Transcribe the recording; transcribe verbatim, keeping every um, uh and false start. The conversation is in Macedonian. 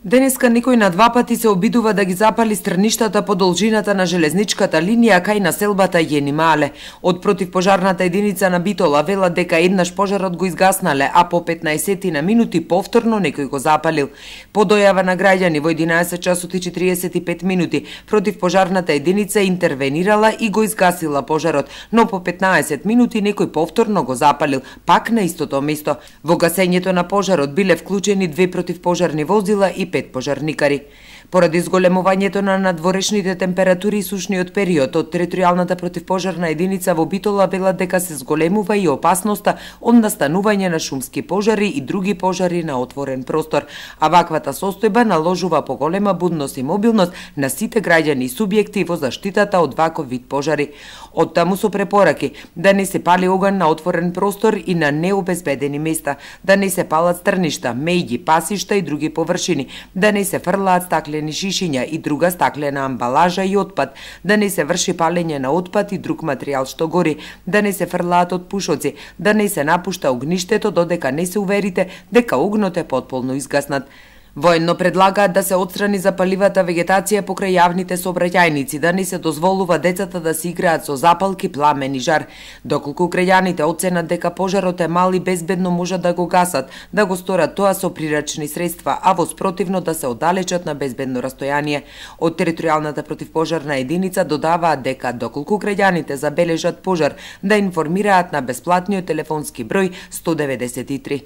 Денеска некој на два пати се обидува да ги запали стрништата по должината на железничката линија кај населбата Јенимале. Од противпожарната единица на Битола велат дека еднаш пожарот го изгаснале, а по петнаесет на минути повторно некој го запалил. По дојава на граѓани во единаесет часот и четириесет и пет минути противпожарната единица интервенирала и го изгасила пожарот, но по петнаесет минути некој повторно го запалил, пак на истото место. Во гасењето на пожарот биле вклучени две противпожарни возила и пет пожарникари. Поради зголемувањето на надворешните температури и сушниот период, од територијалната противпожарна единица во Битола велат дека се зголемува и опасноста од настанување на шумски пожари и други пожари на отворен простор, а ваквата состојба наложува поголема будност и мобилност на сите граѓани и субјекти во заштитата од ваков вид пожари. Од таму со препораки да не се пали оган на отворен простор и на необезбедени места, да не се палат стрништа, меѓи, пасишта и други површини, да не се фрлаат стаклени шишиња и друга стаклена амбалажа и отпад, да не се врши палење на отпад и друг материјал што гори, да не се фрлаат од пушоци, да не се напушта огништето додека не се уверите дека огнот е потполно изгаснат. Военно предлагаат да се отстрани запаливата вегетација покрај јавните сообраќајници, да не се дозволува децата да се играат со запалки, пламен и жар. Доколку граѓаните оценат дека пожарот е мал и безбедно можат да го гасат, да го сторат тоа со прирачни средства, а во спротивно да се оддалечат на безбедно растојание. Од територијалната противпожарна единица додаваат дека доколку граѓаните забележат пожар, да информираат на бесплатниот телефонски број сто деветдесет и три.